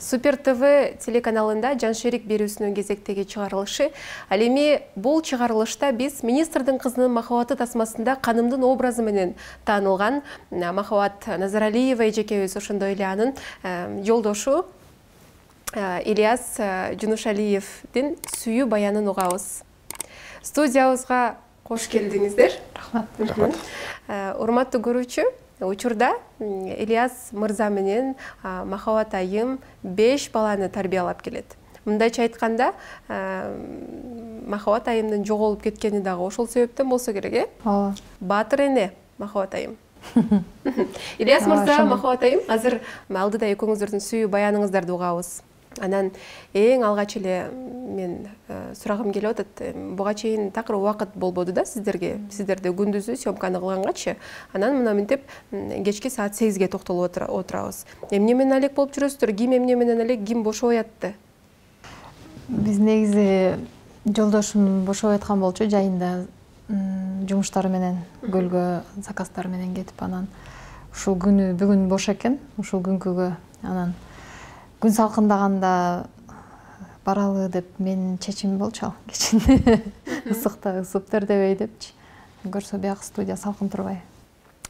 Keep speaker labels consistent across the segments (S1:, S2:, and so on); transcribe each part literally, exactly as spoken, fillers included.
S1: Супер ТВ телеканалында Жаншерик берүүсүнүн кезектеги чыгарылышы. Ал эми бул чыгарылышта биз министрдин кызынын махабаты тасмасында канымдын образы менен таанылган Махабат Назаралиева эжекебиз, ошондой эле анын жолдошу Ильяс Жунушалиевдин сүйүү баянын угабыз. Студиябызга кош келдиңиздер.
S2: Рахмат.
S1: Урматтуу көрүүчү, учурда Ильяс мырза менен Махабат айым беш баланы тарбиялап келет. Мындайча айтканда, Махабат айымдын жоголуп кеткени дагы ошол себептен болсо керек, э?
S2: Ооба.
S1: Баатыр эне Махабат айым. Ильяс мырза, Махабат айым, азыр алдыда экөөңүздөрдүн сүйүү баяныңыздарды угабыз. Анан эң алгач эле мен сурагым келип атат. Буга чейин такыр убакыт болбоду да сиздерге. Сиздерде күндүзү съемканы кылгангачы. Анан мына мынтип кечки саат сегизге токтолуп отурабыз. Эмне менен алек болуп жүрөсүздөр? Ким эмне менен алек, ким бошобой атты?
S2: Биз негизи жолдошум бошобой аткан болчу, жайында жумуштары менен көлгө заказдар менен кетип, анан ушул күнү бүгүн бош экен, ушул күнкүгө анан күн салкындаганда баралы деп менин чечимим болчу ал кечин. Ысыкта ысып тердебей депчи. Көрсө бияк студия салкын турбай.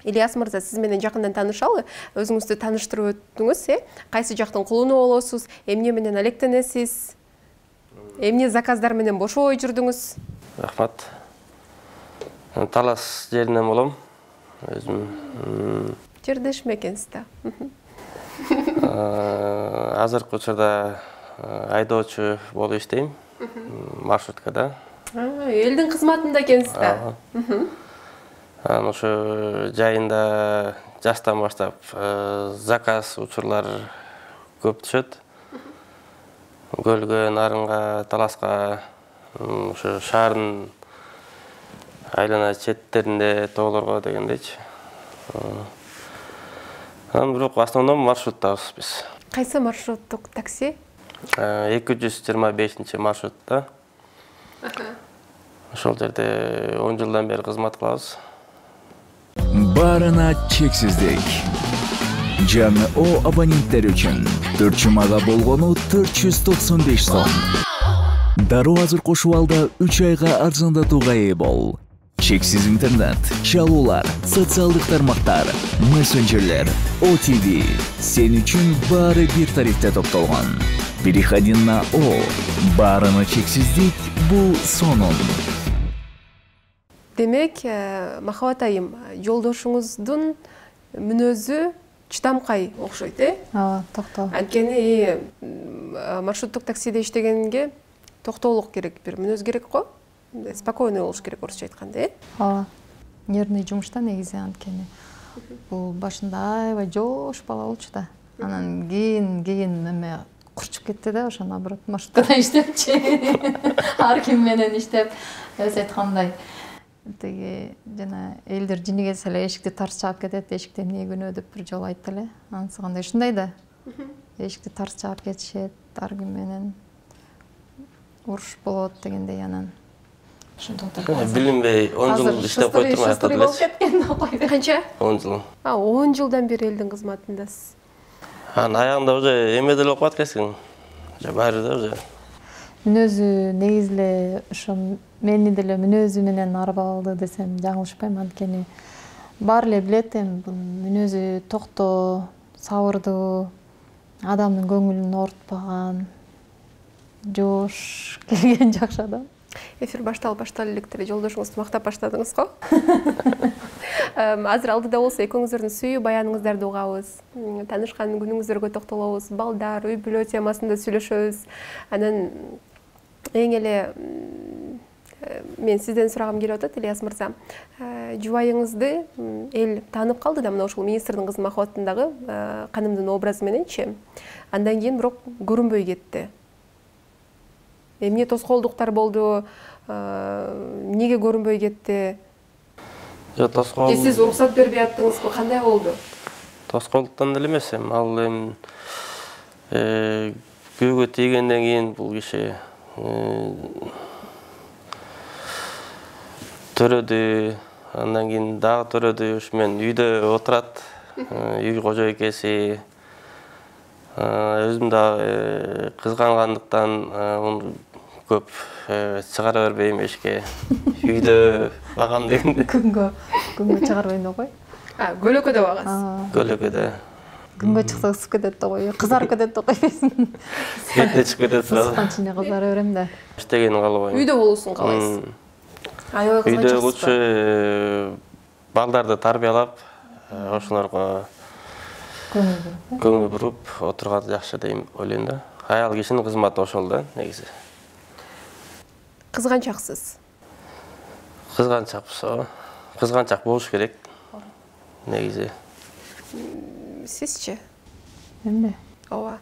S1: Ильяс мырза, сиз менен жакындан таанышалы, өзүңүздү тааныштырып өттүңүз, э? Кайсы жактын кулуну болосуз, эмне менен алектенесиз, эмне заказдар менен бошобой жүрдүңүз?
S3: Рахмат. Талас жеринен болом. Өзүм
S1: жердешме экенсиз да.
S3: Азыркы учурда айдоочу болуп иштейм, маршруткада.
S1: Элдин кызматында экенсиз да.
S3: Анан ошо жайында жаштан баштап заказ учурлар көп түшөт. Көлгө, Нарынга, Таласка, ошо шаардын айлана четтеринде, тоолорго дегендейчи. Анан бирок основном маршруттабыз биз.
S1: Кайсы маршруттук такси?
S3: эки жүз жыйырма бешинчи маршрутта. Ошол жерде он жылдан бери кызмат кылабыз.
S4: Баарына чексиздик. Жаңы О абоненттер үчүн төрт жумага болгону төрт жүз токсон беш сом. Дароо азыр кошуп алда үч айга арзандатууга ээ бол. Чексиз интернет, чалуулар, социалдык тармактар, мессенджерлер, О Т В. Сен үчүн баары бир тарифте топтолгон. Переходи на О. Баарына чексиздик бул сонун.
S1: Демек, Махабат айым, жолдошуңуздун мүнөзү чыдамкай окшойт, э?
S2: Ооба, токтоо.
S1: Анткени маршруттук таксиде иштегенге токтоолук керек, бир мүнөз керек го. Спокойный болуш керек, орусча айтканда, э?
S2: Ооба. Нервный жумушта негизи, анткени бул башында аябай жош бала болчу да. Анан кийин кийин эме курчуп кетти да, ошо наоборот маршруткада иштепчи. Ар ким менен иштеп, өзү айткандай тиги жана элдер жини келсе эле эшикти тарс чаап кетет, эшикте эмне күнөө деп бир жолу айтты эле. Анысы кандай ушундай да. Эшикти тарс чаап кетишет, ар ким менен уруш болот дегендей, анан
S3: билинбей он жыл иштеп койдурмай атат эле.
S1: Канча?
S3: он жыл.
S1: А, он жылдан бери элдин кызматындасыз.
S3: Анан аягында уже эме деле окуп аткансың. Же баары да уже.
S2: Мүнөзү негизи эле ошо мени деле мүнөзү менен арбалды десем жаңылышпайм, анткени баары эле билет эми бул мүнөзү токтоо, сабырдуу, адамдын көңүлүн оорутпаган, жош келген жакшы адам.
S1: Эфир башталып башталып электер жолдошуңузду мактап баштадыңыз го. Азыр алдыда болсо экөөңүздөрдүн сүйүү баяныңыздарды угабыз. Таанышкан күнүңүздөргө токтолобуз, балдар, үй бүлө темасында сүйлөшөбүз. Анан эң эле мен сизден сурагым келип атат, Ильяс мырза. Жубайыңызды эл таанып калды да, мына ушул министрдин кызы Махабаттындагы канымдын образы мененчи. Андан кийин бирок көрүнбөй кетти. Эмне тоскоолдуктар болду? Эмнеге көрүнбөй кетти?
S3: Жок, тоскоол.
S1: Же сиз уруксат бербей аттыңызбы? Кандай болду?
S3: Тоскоолдуктан деле эмес, эми ал эми күйөөгө тийгенден кийин бул киши төрөдү, андан кийин дагы төрөдү, ушу менен үйдө отурат, үй кожойкеси. Өзүм да кызгангандыктан көп чыгара бербейм эшикке. Үйдө багам дегенде.
S2: Күнгө күнгө чыгарбайм да кой.
S1: А, көлөкөдө багасыз.
S3: Көлөкөдө.
S2: Күнгө чыкса ысып кетет да кой. Кызарып кетет да кой.
S3: Бетине чыгып кетет сразу.
S2: Ысыккан кызара берем да.
S3: Иштегени каалабайм.
S1: Үйдө болуусун каалайсыз. Аябай кызганчаксыз.
S3: Үйдө лучше балдарды тарбиялап, ошолорго көңүл буруп отурган жакшы дейм ойлойм да. Аял кишинин кызматы ошол да негизи.
S1: Кызганчаксыз.
S3: Кызганчакпыз, ооба. Кызганчак болуш керек. Негизи.
S1: Сизчи?
S2: Эмне?
S1: Ооба.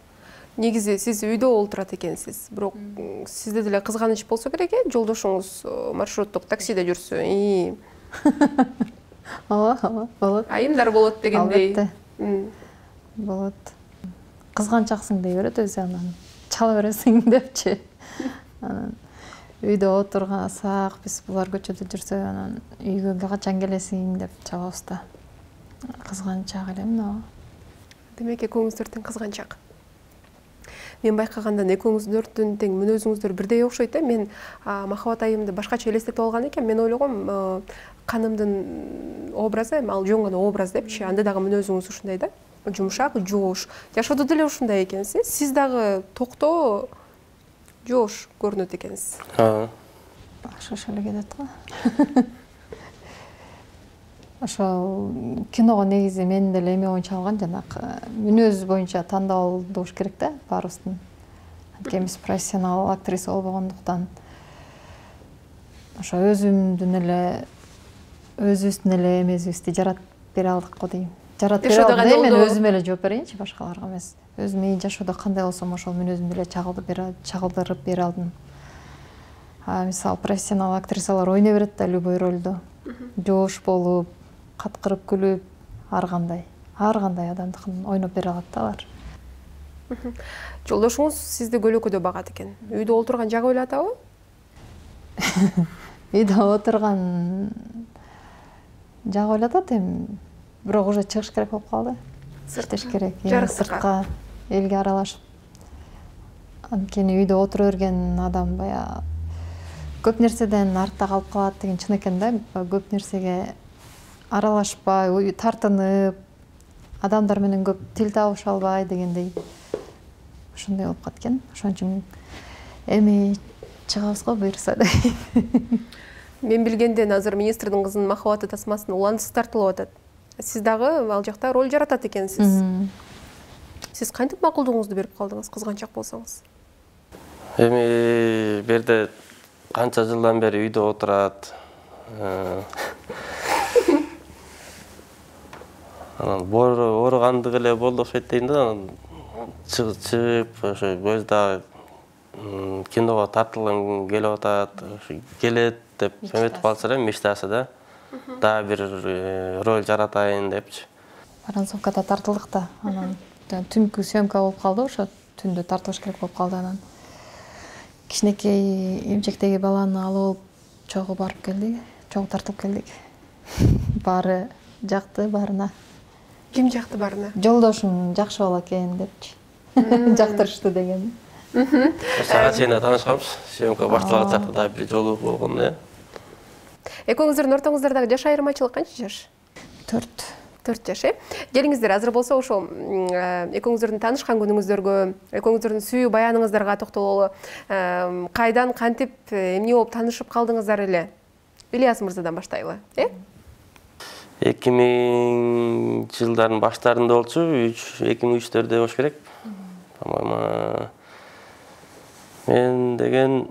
S1: Негизи сиз үйдө олтурат экенсиз. Бирок сизде деле кызганыч болсо керек э, жолдошуңуз маршруттук таксиде жүрсө. И
S2: Ооба, ооба, болот.
S1: айымдар болот дегендей.
S2: Албетте. Болот. Кызганчаксың дей берет өзү анан. Чала бересиң депчи. Анан үйдө отургансак, биз булар көчөдө жүрсө, анан үйгө качан келесиң деп чабабыз да. Кызганчак элем да.
S1: Демек экөөңүздөрдүн кызганчак. Мен байкагандан экөөңүздөрдүн тең мүнөзүңүздөр бирдей окшойт э. Мен Махабат айымды башкача элестетип алган экен. Мен ойлогом, канымдын образы, ал жөн гана образ депчи. Анда дагы мүнөзүңүз ушундай да. Жумшак, жоош. Жашоодо деле ушундай экенсиз. Сиз дагы токтоо, жоош көрүнөт экенсиз.
S3: Ооба.
S2: Башка эле кетет го. Ошол киного негизи мен деле эме боюнча алган, жанагы мүнөз боюнча тандалдыш керек да баарыбыздын. Анткени биз профессионал актриса болбогондуктан ошо өзүмдүн эле өзүбүздүн эле эмесибизди жаратып бере алдык го дейм. Жаратып бере алдым, мен өзүм эле жооп берейинчи, башкаларга эмес. Өзүм мен жашоодо кандай болсом ошол мүнөзүмдү эле чагылдырып бере алдым. А мисалы профессионал актрисалар ойной берет да любой ролду. Жоош болуп, каткырып күлүп, ар кандай, ар кандай адамдыкын ойноп бере алат да алар.
S1: Жолдошуңуз сизди көлөкөдө багат экен. Үйдө олтурган жагы ойлотабы?
S2: Үйдө отурган жагы ойлотот эми, бирок уже чыгыш керек болуп калды. Иштеш керек, сыртка, элге аралашып. Анткени үйдө отура берген адам бая көп нерседен артта калып калат деген чын экен да. Көп нерсеге аралашпай, тартынып, адамдар менен көп тил табыша албай дегендей. Ошондой болуп кеткен. Ошон үчүн эми чыгабыз го буюрса да.
S1: Мен билгенден азыр министрдин кызынын Махабаты тасмасына уландысы тартылып атат. Сиз дагы ал жакта роль жаратат экенсиз. Сиз кантип макулдугуңузду берип калдыңыз, кызганчак болсоңуз?
S3: Эми берде канча жылдан бери үйдө отурат. Анан ооругандык эле болду окшойт дейм да. Чыгып, ошо көздө киного тартылган келип атат, келет деп үмүт калса эле мечтасы да. Дагы бир роль жаратайын депчи.
S2: Воронцовкада тартылдык да. Анан түнкү съемка болуп калды, ошо түндө тартылыш керек болуп калды. Анан кичинекей эмчектеги баланы алып алып чогуу барып келдик, чогуу тартылып келдик. Баары жакты баарына.
S1: Ким жакты баарына?
S2: Жолдошум жакшы бала экен депчи. Жактырышты деген.
S3: Сага чейин таанышканбыз. Съемка башталган чакта да бир жолу болгон э.
S1: Экөөңүздөрдүн ортоңуздардагы жаш айырмачылык канча жаш?
S2: төрт.
S1: төрт жаш, э? Келиңиздер, азыр болсо ошо экөөңүздөрдүн таанышкан күнүңүздөргө, экөөңүздөрдүн сүйүү баяныңыздарга токтололу. Кайдан, кантип, эмне болуп таанышып калдыңыздар эле? Ильяс мырзадан баштайлы, э?
S3: эки миң жылдардын баштарында болчу, эки миң үчтөрдө болуш керек. По-моему, мен деген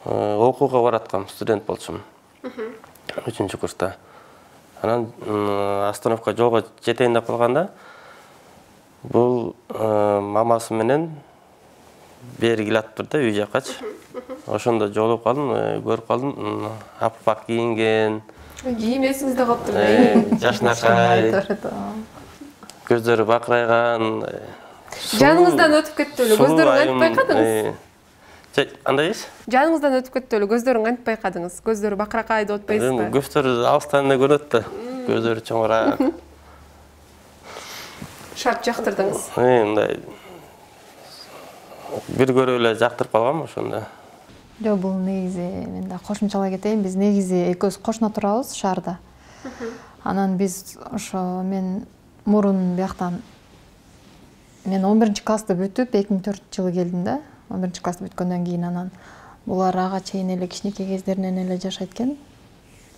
S3: окууга бараткам, студент болчумун. үчүнчү курста. Анан остановка жолго жетейин деп калганда, бул мамасы менен бери келатыптыр да үй жаккачы. Ошондо жолугуп калдым, көрүп калдым, аппак кийинген.
S1: Кийим эсиңизде калыптыр да.
S3: Жашнакай. Көздөрү бакырайган.
S1: Жаныңыздан өтүп кетти эле, көздөрүн кантип байкадыңыз?
S3: Андай эс?
S1: Жаныңыздан өтүп кетти эле, көздөрүн кантип байкадыңыз? Көздөрү бакыракай деп атпайсызбы?
S3: Көздөрү алыстан эле көрөт да. Көздөрү чоңураак.
S1: шарт жактырдыңыз?
S3: Мындай бир көрүп эле жактырып калгам ошондо.
S2: Жок, бул негизи мен да кошумчалай кетейин. Биз негизи экөөбүз кошуна турабыз шаарда. Анан биз ошо мен мурун бияктан мен он биринчи классты бүтүп эки миң төртүнчү жылы келдим да. он биринчи классты бүткөндөн кийин анан булар ага чейин эле кичинекей кездеринен эле жашайт экен.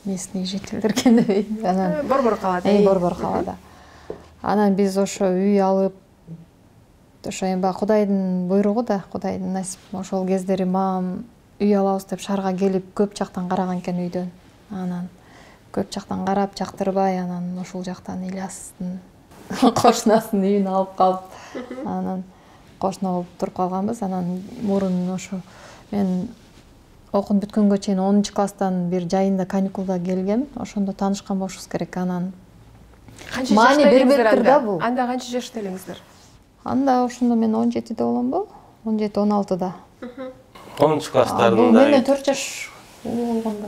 S2: Местный жительдер экен дебейт. Анан
S1: Борбор калада.
S2: Э, Борбор калада. Анан биз ошо үй алып, ошо эми баягы Кудайдын буйругу да, Кудайдын насип. Ошол кездери мамам үй алабыз деп шаарга келип көп жактан караган экен үйдөн. Анан көп жактан карап жактырбай, анан ошол жактан Ильястын кошунасын үйүн алып калып, анан кошуна болуп туруп калганбыз. Анан мурун ошо мен окуп бүткөнгө чейин онунчу класстан бир жайында каникулда келгем. Ошондо таанышкан болушубуз керек. Анан
S1: маани
S2: бербептир да бул.
S1: Анда канча жашта элеңиздер?
S2: Анда ошондо мен он жетиде боломбу? он жети он алтыда.
S3: онунчу класстарында.
S2: Бул менден төрт жаш улуу болгондо.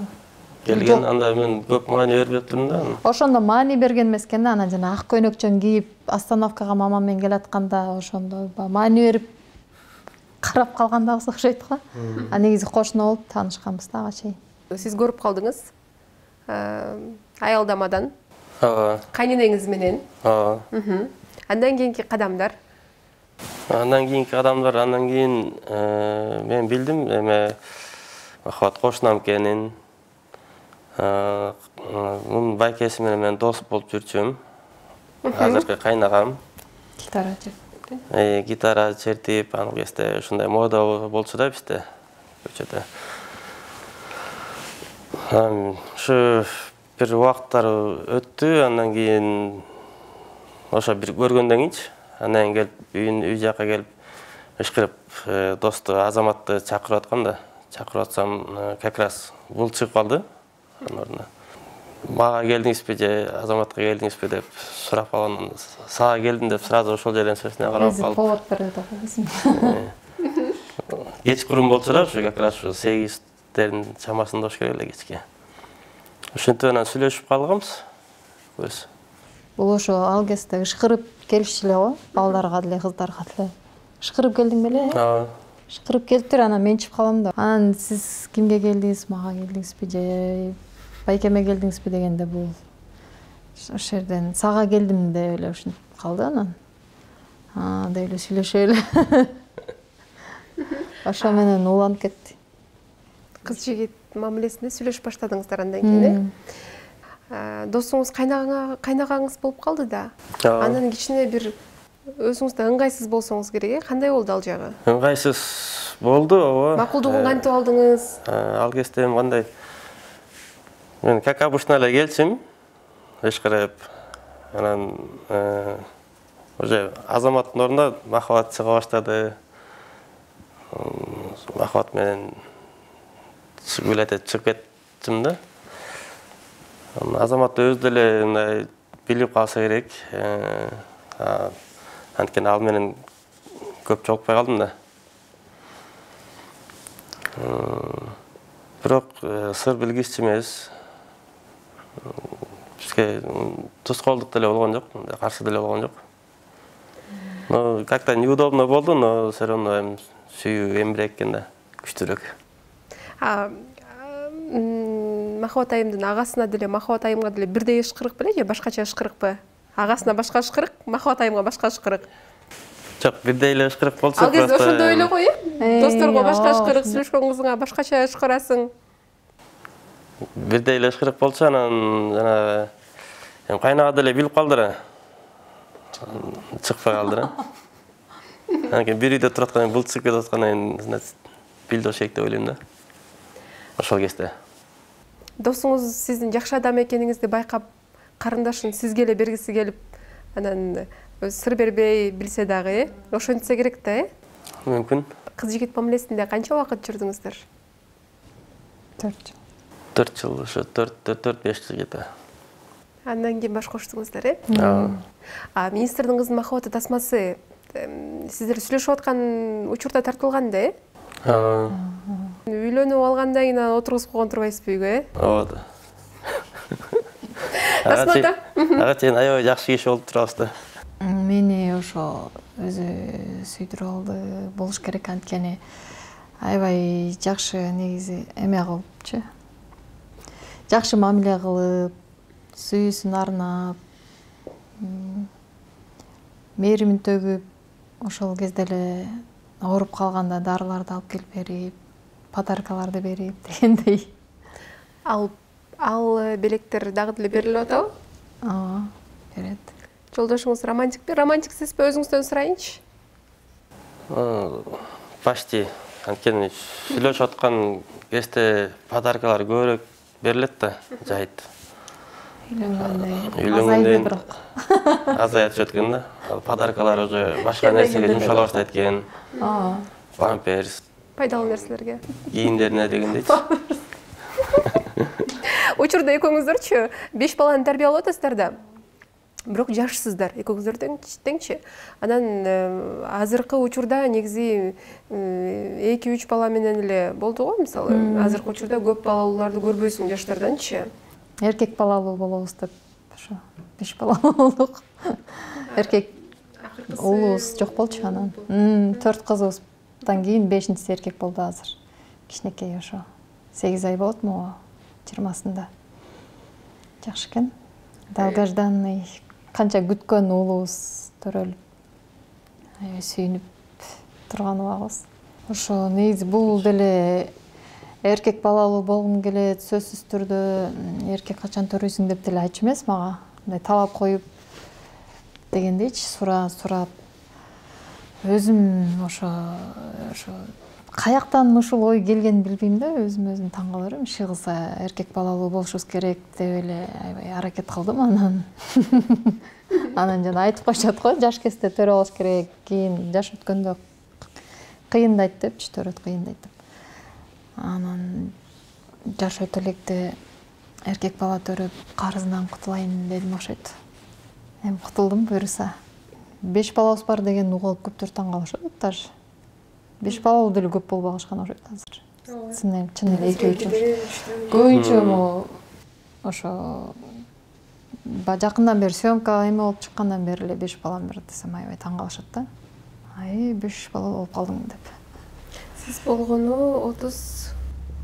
S3: Келген, анда мен көп маани бербептирмин да.
S2: Ошондо маани берген эмес экен да, анан жана ак көйнөкчөн кийип остановкага мамам менен келатканда ошондо маани берип карап калгандабыз окшойт го. А негизи кошуна болуп таанышканбыз да ага чейин.
S1: Сиз көрүп калдыңыз. Аялдамадан.
S3: Ооба.
S1: Кайненеңиз менен.
S3: Ооба.
S1: Андан кийинки кадамдар.
S3: Андан кийинки кадамдар, андан кийин мен билдим эме Махабат кошунам экенин. Мунун байкеси менен мен дос болуп жүрчүм. Азыркы кайнагам.
S2: Гитара чертип.
S3: Э, гитара чертип, аны кезде ушундай мода болчу да бизде көчөдө. Ушу бир убакыттар өттү, андан кийин ошо бир көргөндөн кийинчи, анан келип үйүн үй жакка келип ышкырып досту Азаматты чакырып аткам да. Чакырып атсам, как раз бул чыгып калды. Анан мага келдиңизби же Азаматка келдиңизби деп сурап калган. Сага келдим деп сразу ошол жерден сөзүнө карап калдым.
S2: Повод берди да.
S3: Кечкурун болчу да, ушу как раз ушу сегиздердин чамасында болуш керек эле кечке. Ошентип анан сүйлөшүп калганбыз. Көз.
S2: Бул ошо ал кезде ышкырып келишчү эле го, балдарга деле, кыздарга деле. Ышкырып келдиң беле?
S3: Ооба.
S2: Ышкырып келиптир, анан мен чыгып калам да. Анан сиз кимге келдиңиз, мага келдиңизби же байкеме келдиңизби дегенде бул ошол жерден сага келдим деп эле ушинтип калды анан. А, деп эле сүйлөшүп эле. Ошо менен уланып кетти.
S1: Кыз жигит мамилесинде сүйлөшүп баштадыңыздар андан кийин, э? Досуңуз кайнагаңыз болуп калды да. Анан кичине бир өзүңүз да ыңгайсыз болсоңуз керек, э? Кандай болду ал жагы?
S3: Ыңгайсыз болду, ооба.
S1: Макулдугун кантип алдыңыз?
S3: Ал кезде эми кандай мен как обычно эле келчим, ышкырып. Анан уже Азаматтын ордуна Махабат чыга баштады. Махабат менен билете чыгып кеттим да. Азамат өзү деле мындай билип калса керек. Анткени ал менен көп жолукпай калдым да. Бирок сыр билгичи эмес. Бизге тускоолдук деле болгон жок, каршы деле болгон жок. Но как-то неудобно болду, но все равно эми сүйүү эмирээк экен да, күчтүүрөөк.
S1: А Махабат айымдын агасына деле, Махабат айымга деле бирдей ышкырык беле же башкача ышкырыкпы? Агасына башка ышкырык, Махабат айымга башка ышкырык.
S3: Жок, бирдей эле ышкырык болчу.
S1: Ал кезде ошондой эле го, э? Досторго башка ышкырык, сүйлөшкөн кызыңа башкача ышкырасың.
S3: Бирдей эле ышкырык болчу, анан жана эми кайнага деле билип калдыр. Чыкпай калдыр. Анан кийин бир үйдө туруп аткандан кийин бул чыгып кетип аткандан кийин билди ошек деп ойлойм да. Ошол кезде.
S1: Досуңуз сиздин жакшы адам экениңизди байкап, карындашын сизге эле бергиси келип, анан сыр бербей билсе дагы, э? Ошентсе керек да, э?
S3: Мүмкүн.
S1: Кыз жигит мамилесинде канча убакыт жүрдүңүздөр?
S2: төрт жыл.
S3: төрт жыл, ошо төрт беш жыл жетти.
S1: Андан кийин баш коштуңуздар, э?
S3: Ооба.
S1: А министрдин кызынын Махабаты тасмасы сиздер сүйлөшүп аткан учурда тартылган да, э?
S3: Ооба.
S1: Үйлөнүп алгандан кийин отургузуп койгон турбайсызбы үйгө, э?
S3: Ооба.
S1: Тасмада?
S3: Ага чейин аябай жакшы киши болуп турабыз да.
S2: мени ошо өзү сүйдүрүп алды, болуш керек, анткени аябай жакшы негизи эме кылыпчы. Жакшы мамиле кылып, сүйүүсүн арнап, мээримин төгүп, ошол кезде эле ооруп калганда дарыларды алып келип берип, подаркаларды берип дегендей.
S1: Ал ал белектер дагы деле берилип атабы?
S2: Ооба, берет.
S1: Жолдошуңуз романтикпи? Романтиксизби? Өзүңүздөн сурайынчы.
S3: Почти. Анткени сүйлөшүп аткан кезде подаркалар көбүрөөк берилет да, жайыт.
S2: Үйлөнгөндөн бирок
S3: азая түшөт экен да. Подаркалар уже башка нерсеге жумшала баштайт экен.
S2: Ооба.
S3: Памперс,
S1: Пайдалуу нерселерге.
S3: кийимдерине дегендейчи.
S1: Учурда экөөңүздөрчү беш баланы тарбиялап атасыздар да. Бирок жашсыздар, экөөңүздөр теңчи. Анан азыркы учурда негизи эки үч бала менен эле болду го, мисалы. Азыркы учурда көп балалууларды көрбөйсүң жаштарданчы.
S2: Эркек балалуу болобуз деп ошо беш балалуу болдук. Эркек уулубуз жок болчу анан. төрт кызыбыздан кийин бешинчиси эркек болду азыр. Кичинекей ошо сегиз ай болот могу жыйырмасында. Жакшы экен. Долгожданный, канча күткөн уулубуз төрөлүп, аябай сүйүнүп турган убагыбыз. Ошо негизи бул деле эркек балалуу болгум келет, сөзсүз түрдө эркек качан төрөйсүң деп деле айтчу эмес мага. Мындай талап коюп дегендейчи, сурап сурап. Өзүм ошо ошо каяктан ушул ой келгенин билбейм да, өзүм өзүм таң кала берем. Иши кылса эркек балалуу болушубуз керек деп эле аябай аракет кылдым анан. Анан жана айтып коюшат го, жаш кезде төрө алыш керек, кийин жаш өткөндө кыйындайт депчи, төрөт кыйындайт деп. Анан жаш өтө электе эркек бала төрөп карызынан кутулайын дедим окшойт. Эми кутулдум буюрса. Беш балабыз бар деген угулуп көптөр таң калышат даже. Беш балалуу деле көп болуп алышкан окшойт азыр. Чын эле экөө үчүн. Көбүнчө могу ошо жакындан бери съемка эме болуп чыккандан бери эле беш балам бар десем аябай таң калышат да. Ай, беш бала болуп калдың деп.
S1: Сиз болгону отуз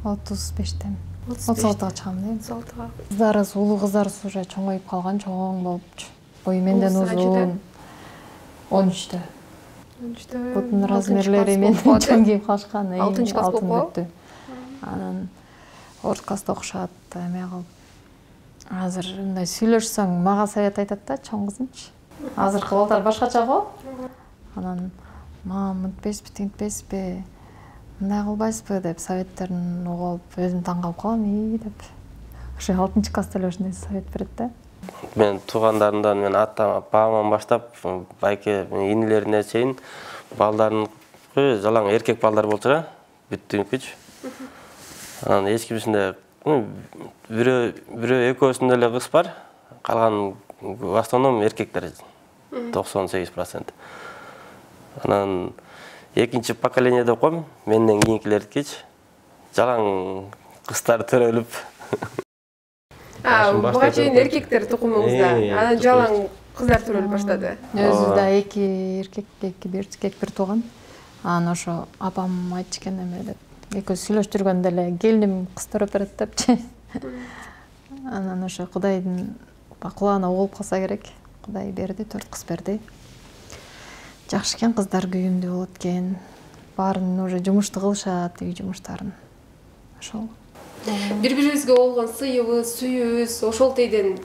S2: отуз бештен. отуз алтыга чыгам дейм.
S1: отуз алтыга.
S2: Кыздарыбыз, улуу кыздарыбыз уже чоңоюп калган, чоң болупчу. Бою менден узун. он үчтө.
S1: он үчтө.
S2: Бутун размерлери менден чоң кийип калышкан.
S1: алтынчы класс болуп калды.
S2: Анан орто класста окушат, эме кылып. Азыр мындай сүйлөшсөң мага совет айтат да, чоң кызымчы. Азыркы балдар башкача го. Анан мам, мынтпайсызбы, тинтпейсизби, мындай кылбайсызбы деп советтерин угуп, өзүм таң калып калам, и деп. Ошо алтынчы класста эле ушундай совет берет да.
S3: Мен туугандарымдан, мен атам, бабаман баштап, байке инилерине чейин балдарын жалаң эркек балдар болчу да, бүттүнкүчү. Анан эч кимисинде бирөө бирөө экөөсүндө эле кыз бар, калган в основном эркектер, токсон сегиз процент. Анан экинчи поколение деп коем, менден кийинкилердикичи жалаң кыздар төрөлүп.
S1: А, буга чейин эркектер тукумуңузда, анан жалаң кыздар төрөлүп баштады.
S2: Өзүбүздө эки эркек, эки эркек бир тууган. Анан ошо апам айтчу экен эме деп. Экөөбүз сүйлөшүп жүргөндө эле келиним кыз төрөп берет депчи. Анан ошо Кудайдын кулагына угулуп калса керек. Кудай берди, төрт кыз берди. Жакшы экен, кыздар күйүмдүү болот экен. Баарын уже жумушту кылышат, үй жумуштарын. Ошол.
S1: Бири-бирибизге болгон сыйыбыз, сүйүүбүз ошол тийден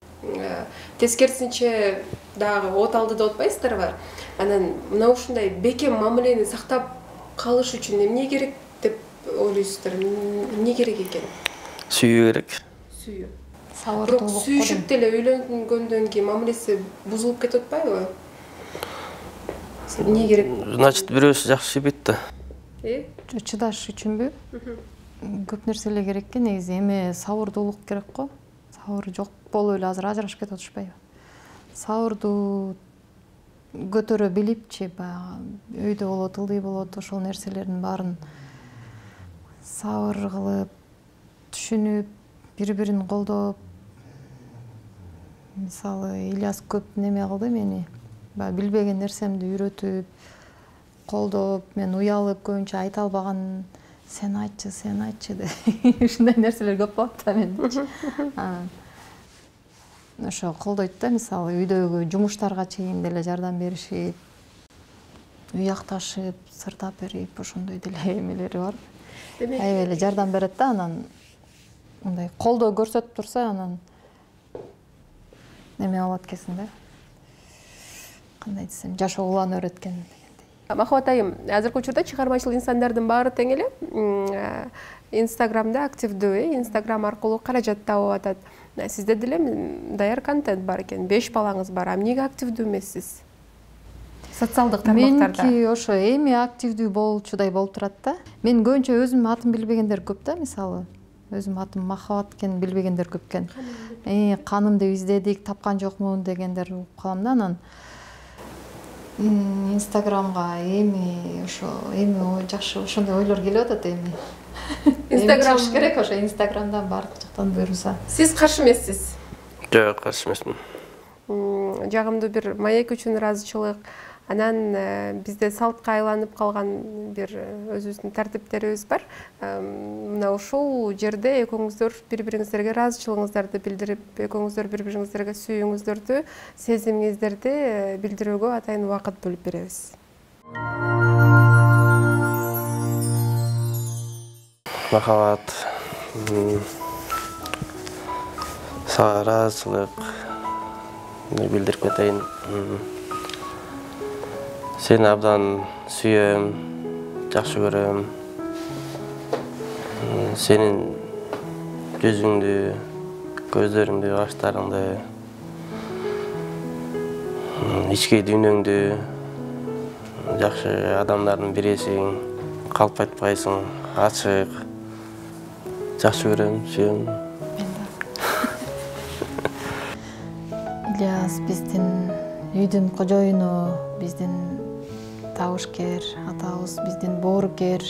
S1: тескерисинче дагы от алдыда отпайсыздарбы? Анан мына ушундай бекем мамилени сактап калыш үчүн эмне керек деп ойлойсуздар? Эмне керек экен?
S3: Сүйүү керек.
S1: Сүйүү.
S2: Сабырдуулук.
S1: Сүйүшүп деле үйлөнгөндөн кийин мамилеси бузулуп кетип атпайбы? Эмне керек?
S3: Значит, бирөөсү жакшы сүйбөйт да.
S1: Э?
S2: Чыдаш үчүнбү? Көп нерселер керек экен, негизи эме сабырдуулук керек го. Сабыр жок болуп эле азыр ажырашып кетип атышпайбы? Сабырдуу көтөрө билипчи, баягы өйдө болот, ылдый болот, ошол нерселердин баарын сабыр кылып, түшүнүп, бири-бирин колдоп. Мисалы, Ильяс көп неме кылды мени. баягы билбеген нерсемди үйрөтүп, колдоп, мен уялып көбүнчө айта албаган сен айтчы, сен айтчы деп ушундай нерселер көп болот да менчи. Ошо колдойт да, мисалы үйдөгү жумуштарга чейин деле жардам беришип, уякташып, сырдап берип, ошондой деле эмелери бар. Аябай эле жардам берет да, анан мындай колдоо көрсөтүп турса, анан эме болот экенсиң да. Кандай десем, жашоо улан өрөткөн дегендей.
S1: Махабат айым, азыркы учурда чыгармачыл инсандардын баары тең эле Инстаграмда активдүү, Инстаграм аркылуу каражат табып атат. Сизде деле даяр контент бар экен, беш балаңыз бар. Эмнеге активдүү эмессиз? Социалдык тармактарда.
S2: Меники ошо эми активдүү болчудай болуп турат да. Мен көбүнчө өзүм атын билбегендер көп да, мисалы. Өзүм атым Махабат экенин билбегендер көп экен. Э, канымды издедик, тапкан жокмун дегендер угуп калам да, анан Инстаграмга эми ошо эми жакшы ошондой ойлор келип атат эми. Инстаграм керек, ошо Инстаграмдан баардык жактан буйруса.
S1: Сиз каршы эмессиз?
S3: Жок, каршы эмесмин.
S1: Жагымдуу бир маек үчүн ыраазычылык, анан бизде салтка айланып калган бир өзүбүздүн тартиптерибиз бар. Мына ушул жерде экөөңүздөр бири-бириңиздерге ыраазычылыгыңыздарды билдирип, экөөңүздөр бири-бириңиздерге сүйүүңүздөрдү, сезимиңиздерди билдирүүгө атайын убакыт бөлүп беребиз.
S3: Махабат, сага ыраазычылык билдирип кетейин. Сени абдан сүйөм, жакшы көрөм. Сенин жүзүңдү, көздөрүңдү, каштарыңды, ички дүйнөңдү жакшы адамдардын бирисиң, калп айтпайсың, ачык. Жакшы көрөм, сүйөм.
S2: Ильяс биздин үйдүн кожоюну, биздин табышкер атабыз, биздин боорукер,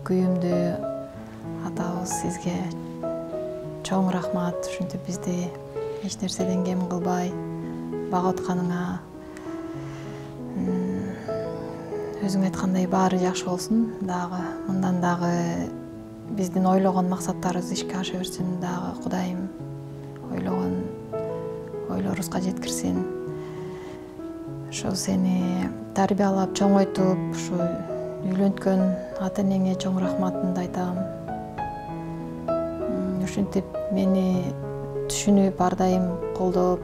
S2: күйүмдүү атабыз, сизге чоң рахмат. Ушинтип бизди эч нерседен кем кылбай багып атканыңа. Өзүң айткандай баары жакшы болсун. Дагы мындан дагы биздин ойлогон максаттарыбыз ишке аша берсин. Дагы Кудайым ойлогон ойлорубузга жеткирсин. Ошо сени тарбиялап, чоңойтуп, ушу үйлөнткөн ата-энеңе чоң рахматымды айтам. Ушинтип мени түшүнүп, ар дайым колдоп,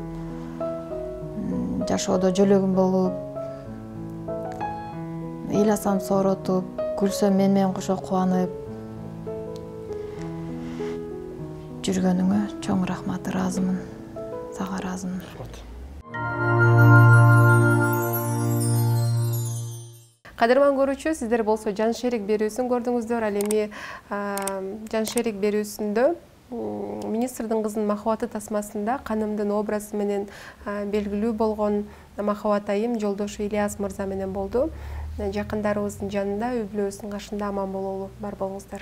S2: жашоодо жөлөгүм болуп, ыйласам сооротуп, күлсөм мен менен кошо кубанып жүргөнүңө чоң рахмат, ыраазымын. Сага ыраазымын.
S1: Кадырман көрүүчү, сиздер болсо жан шерик берүүсүн көрдүңүздөр. Ал эми жан шерик берүүсүндө министрдин кызынын Махабаты тасмасында канымдын образы менен белгилүү болгон Махабат айым жолдошу Ильяс мырза менен болду. Жакындарыбыздын жанында, үй бүлөбүздүн кашында аман бололу, бар болуңуздар.